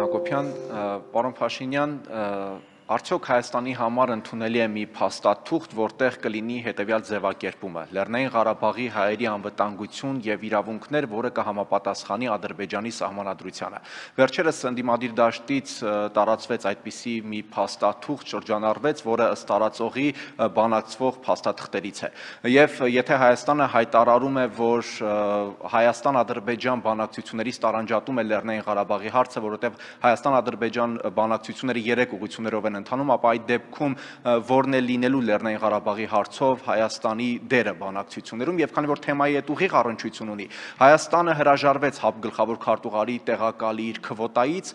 Հակոբյան, պարոն Փաշինյան, արդյոք Հայաստանի համար ընդունելի է մի փաստաթուղթ, որտեղ կլինի հետևյալ ձևակերպումը. Լեռնային Ղարաբաղի հայերի անվտանգություն եւ իրավունքներ, որը կհամապատասխանի Ադրբեջանի սահմանադրությանը։ Վերջերս ընդդիմադիր դաշտից տարածվեց այդպիսի մի փաստաթուղթ, շրջանառվեց, որը ըստ տարածողի բանակցվող փաստաթղթերից է։ Եվ եթե Հայաստանը հայտարարում է, որ Հայաստան-Ադրբեջան բանակցություններից տարանջատում է Լեռնային Ղարաբաղի հարցը, որովհետև Հայաստան-Ադրբեջան բանակցությունները 3 ուղղություններով են ընթանում, ապա այդ դեպքում որն է լինելու Լեռնային Ղարաբաղի հարցով Հայաստանի դերը բանակցություններում, եւ քանի որ թեմայի հետ ուղիղ առնչություն ունի, Հայաստանը հրաժարվեց ՀԱՊ գլխավոր քարտուղարի տեղակալի իր քվոտայից,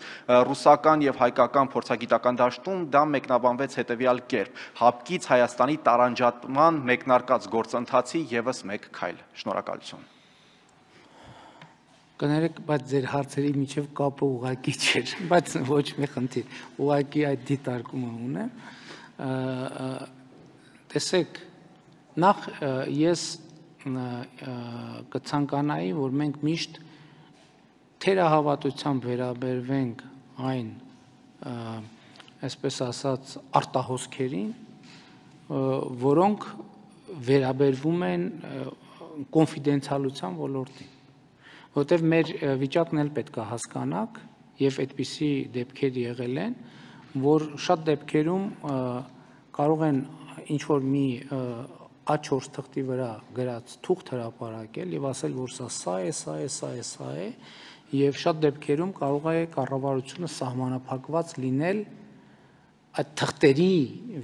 ռուսական եւ հայկական փորձագիտական դաշտում դա մեկնաբանվեց հետեւյալ կերպ. ՀԱՊԿից Հայաստանի տարանջատման մեկնարկած գործընթացի եւս մեկ քայլ։ Շնորհակալություն։ Կներեք, բայց ձեր հարցերի միջև կապը ուղղակի չէր, բայց ոչ մի խնդիր, ուղղակի այդ դիտարկումը ունեմ։ Տեսեք, նախ ես կցանկանայի, որ մենք միշտ թերահավատությամբ վերաբերվենք այն, այսպես ասած, արտահոսքերին, որոնք վերաբերվում են կոնֆիդենցիալության ոլորտին։ Որտև մեր վիճակն էլ պետք է հասկանաք, եւ այդպիսի դեպքեր եղել են, որ շատ դեպքերում կարող են ինչ-որ մի A4 թղթի վրա գրած թուղթ հրապարակել եւ ասել, որ սա է, եւ շատ դեպքերում կարող է կառավարությունը սահմանափակված լինել այդ թղթերի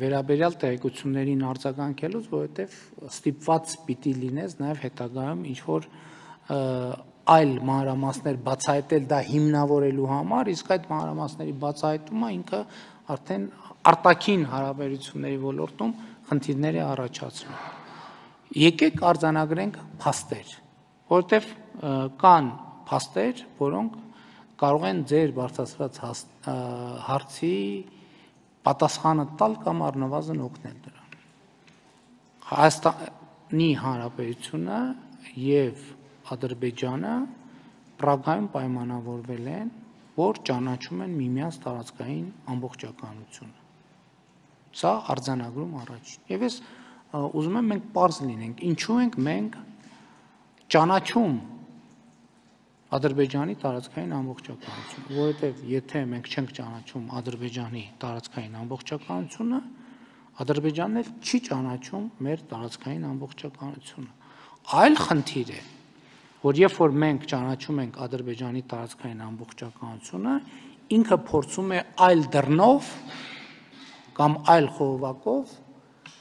վերաբերյալ տեղեկություններին արձագանքելուց, որովհետեւ ստիպված պիտի լինես նաեւ հետագայում ինչ-որ այլ մանրամասներ բացահայտել դա հիմնավորելու համար, իսկ այդ մանրամասների բացահայտումը ինքը արդեն արտաքին հարաբերությունների ոլորտում խնդիրներ է առաջացնում։ Եկեք արձանագրենք փաստեր, որովհետև կան փաստեր, որոնք կարող են ձեր բարձրացրած հարցի պատասխանը տալ կամ առնվազն օգնել դրան։ Հայաստանի Հանրապետությունը եւ Ադրբեջանը Պրագայում պայմանավորվել են, որ ճանաչում են միմյանց տարածքային ամբողջականությունը։ Սա արձանագրում առաջին։ Եվ ես ուզում եմ մենք պարզ լինենք, ինչու ենք մենք ճանաչում Ադրբեջանի տարածքային ամբողջականությունը, որովհետև եթե մենք չենք ճանաչում Ադրբեջանի տարածքային ամբողջականությունը, Ադրբեջանն էլ չի ճանաչում մեր տարածքային ամբողջականությունը։ Այլ խնդիր է, որ երբ որ մենք ճանաչում ենք Ադրբեջանի տարածքային ամբողջականությունը, ինքը փորձում է այլ դռնով կամ այլ խողովակով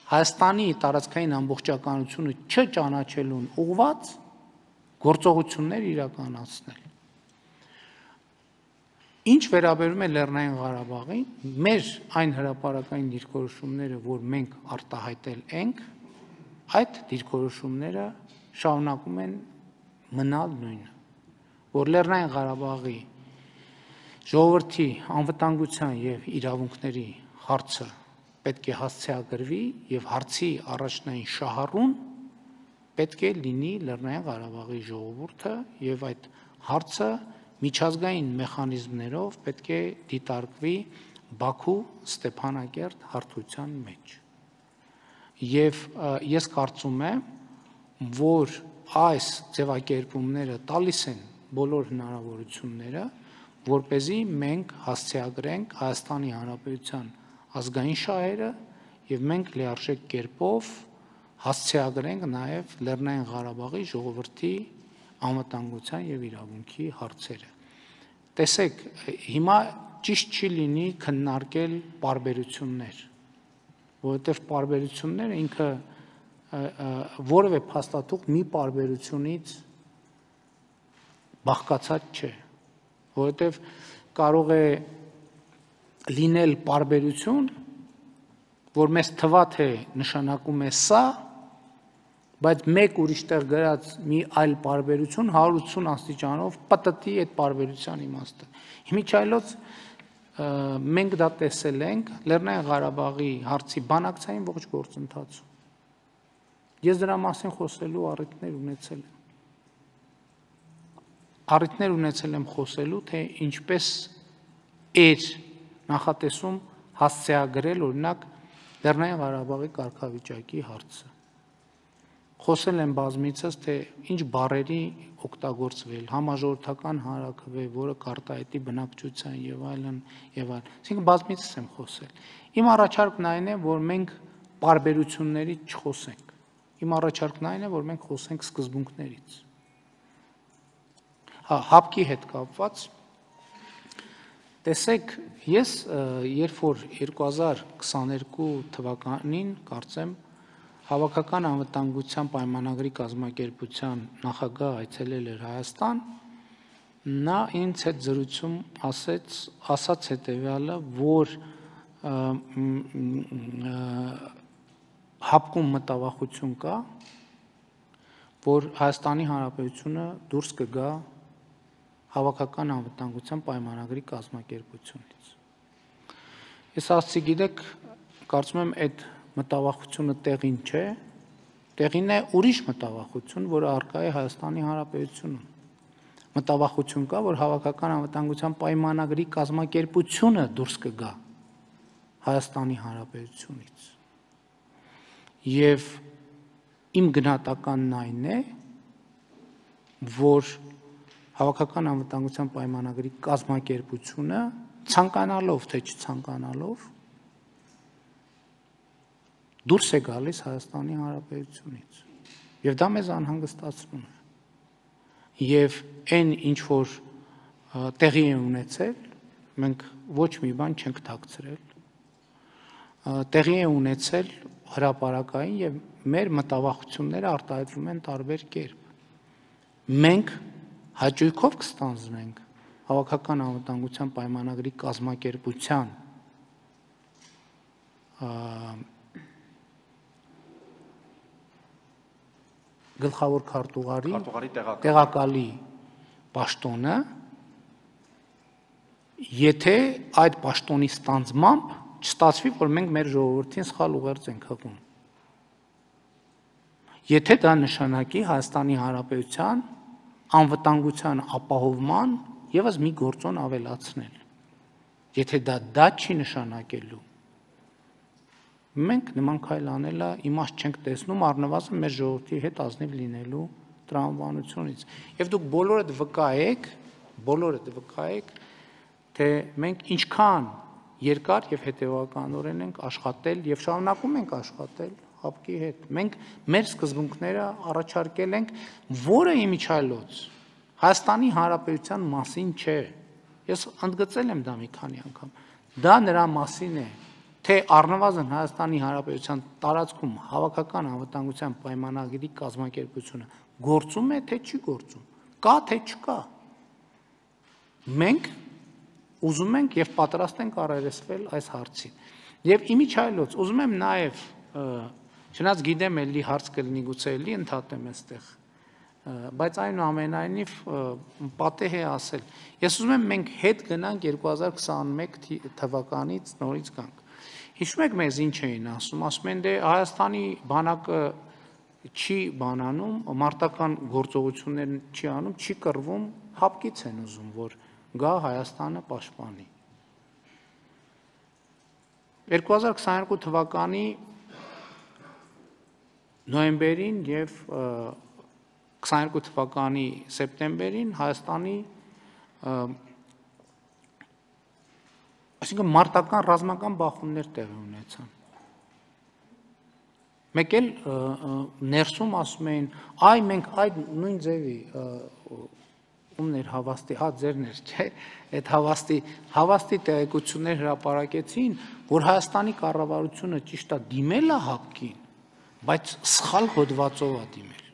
Հայաստանի տարածքային ամբողջականությունը չճանաչելուն ուղղված գործողություններ իրականացնել։ Ինչ վերաբերում է Լեռնային Ղարաբաղին, մեր այն հրապարակային դիրքորոշումները, որ մենք արտահայտել ենք, այդ դիրքորոշումները շարունակում են մնալ նույնը, որ Լեռնային Ղարաբաղի ժողովրդի անվտանգության եւ իրավունքների հարցը պետք է հասցեագրվի եւ հարցի առաջնային շահառուն պետք է լինի Լեռնային Ղարաբաղի ժողովուրդը եւ այդ հարցը միջազգային մեխանիզմներով պետք է դիտարկվի Բաքու Ստեփանակերտ հարթության մեջ։ Եվ ես կարծում եմ, որ այս ձևակերպումները տալիս են բոլոր հնարավորությունները, որպեսզի մենք հասցեագրենք Հայաստանի Հանրապետության ազգային շահերը եւ մենք լիարժեք կերպով հասցեագրենք նաեւ Լեռնային Ղարաբաղի ժողովրդի անվտանգության եւ իրավունքի հարցերը։ Տեսեք, հիմա ճիշտ չի լինի քննարկել պարբերություններ, որովհետեւ պարբերությունները ինքը որևէ փաստաթուղթ մի պարբերությունից բաղկացած չէ, որովհետև կարող է լինել պարբերություն, որ մեզ թվա թե նշանակում է սա, բայց մեկ ուրիշ տեղ գրած մի այլ պարբերություն 180 աստիճանով պտտի այդ պարբերության իմաստը։ Հիմիջայլոց մենք դա տեսել ենք Լեռնային Ղարաբաղի հարցի բանակցային ողջ գործընթացում։ Ես դրա մասին խոսելու առիթներ ունեցել եմ խոսելու, թե ինչպես էր նախատեսում հասցեագրել օրինակ Լեռնային Ղարաբաղի կարգավիճակի հարցը։ Խոսել են բազմիցս, թե ինչ բառերի օգտագործվել, համաժողովրդական հանրաքվե, որը կարտահայտի բնակչության եւ այլն եւ այլն։ Այսինքն բազմիցս եմ խոսել։ Իմ առաջարկն այն է, որ մենք բարբերություններից չխոսենք։ Իմ առաջարկն այն է, որ մենք խոսենք սկզբունքներից։ Հապկի հետ կապված տեսեք, ես երբ որ 2022 թվականին կարծեմ Հավաքական անվտանգության պայմանագրի կազմակերպության նախագահ այցելել էր Հայաստան, նա ինձ հետ զրույցում ասաց հետևյալը, որ հապկում մտավախություն կա, որ Հայաստանի Հանրապետությունը դուրս կգա Հավաքական անվտանգության պայմանագրի կազմակերպությունից։ Ես ասացի, գիտեք, կարծում եմ այդ մտավախությունը տեղին չէ, տեղին է ուրիշ մտավախություն, որը առկա է Հայաստանի Հանրապետությունում։ Մտավախություն կա, որ Հավաքական անվտանգության պայմանագրի կազմակերպությունը դուրս կգա Հայաստանի Հանրապետությունից։ Եվ իմ գնահատականն այն է, որ Հավաքական անվտանգության պայմանագրի կազմակերպությունը ցանկանալով թե չցանկանալով դուրս է գալիս Հայաստանի Հանրապետությունից եւ դա մեզ անհանգստացնում է եւ այն ինչ որ տեղի է ունեցել մենք ոչ մի բան չենք թաքցրել տեղի է ունեցել հրապարակային եւ մեր մտավախությունները արտահայտվում են տարբեր կերպ մենք հաճույքով կստանձնենք Հավաքական անվտանգության պայմանագրի կազմակերպության գլխավոր քարտուղարի տեղակալի պաշտոնը, եթե այդ պաշտոնի ստանձնմամբ չստացվի, որ մենք մեր ժողովրդին սխալ ուղերձ ենք հղում։ Եթե դա նշանակի Հայաստանի Հանրապետության անվտանգության ապահովման ևս մի գործոն ավելացնել։ Եթե դա չի նշանակելու, մենք նման քայլ անելը իմաստ չենք տեսնում առնվազն մեր ժողովրդի հետ ազնիվ լինելու տրամաբանությունից։ Եվ դուք բոլորդ վկայեք, թե մենք ինչքան երկար եւ հետեւականորեն ենք աշխատել եւ շարունակում ենք աշխատել հապկի հետ։ Մենք մեր սկզբունքները առաջարկել ենք, որը իմիջայլոց Հայաստանի Հանրապետության մասին չէ։ Ես ընդգծել եմ դա մի քանի անգամ։ Դա նրա մասին է, թե առնվազն Հայաստանի Հանրապետության տարածքում Հավաքական անվտանգության պայմանագրի կազմակերպությունը գործում է, թե չի գործում, կա թե չկա։ Մենք ուզում ենք եւ պատրաստ ենք առերեսվել այս հարցին։ Եւ իմիջայլոց ուզում եմ նաեւ չնայած գիտեմ էլի հարց կլինի գուցե էլի ընդհատեմ այստեղ, բայց այնուամենայնիվ պատեհ է ասել։ Ես ուզում եմ մենք հետ գնանք 2021 թվականից նորից գանք։ Հիշում եք մեզ ինչ էին ասում են դե Հայաստանի բանակը չի բանանում, մարտական գործողություններ չի անում, չի կռվում, հապկից են ուզում, որ գա Հայաստանը պաշտպանի։ 2022 թվականի նոյեմբերին եւ 22 թվականի սեպտեմբերին Հայաստանի այսինքն մարտական ռազմական բախումներ տեղի ունեցան։ Մեկ էլ ներսում ասում էին, այ մենք այդ նույն ձևի ումներ հավաստի, ձերն էր, չէ, այդ հավաստի տեղեկություններ հրապարակեցին, որ Հայաստանի կառավարությունը ճիշտ է դիմել է հապկին, բայց սխալ հոդվածով է դիմել։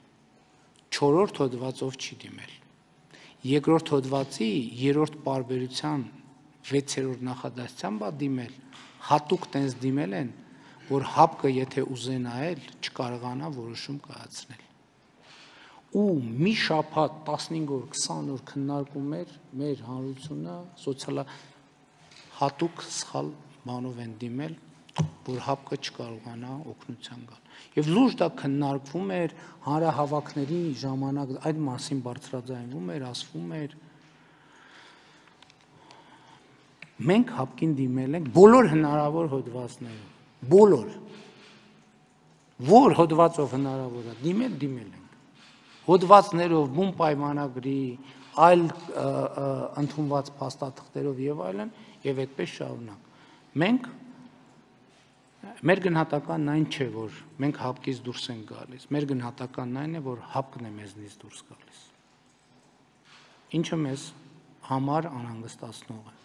4-րդ հոդվածով չի դիմել։ Երկրորդ հոդվածի 3-րդ պարբերության 6-րդ նախադասությամբ է դիմել, հատուկ տենց դիմել են, որ հապկը եթե ուզենա էլ չկարողանա որոշում կայացնել։ Ու մի շաբաթ 15 օր 20 օր քննարկում էր մեր հանրությունը հատուկ սխալ բանով են դիմել, որ հապկը չկարողանա օգնության գալ։ Եվ լուրջ դա քննարկվում էր հանրահավաքների ժամանակ, այդ մասին բարձրաձայնվում էր, ասվում էր։ մենք հապկին դիմել ենք բոլոր հնարավոր հոդվածներով, բոլոր, որ հոդվածով հնարավոր է, դիմել ենք, հոդվածներով, բուն պայմանագրի, այլ ընդունված փաստաթղթերով եւ այլն, եւ այդպես շարունակ։ Մենք մեր գնահատականն այն չէ, որ մենք հապկից դուրս ենք գալիս, մեր գնահատականն այն է, որ հապկն է մեզնից դուրս գալիս, ինչը մեզ համար անհանգստացնող է։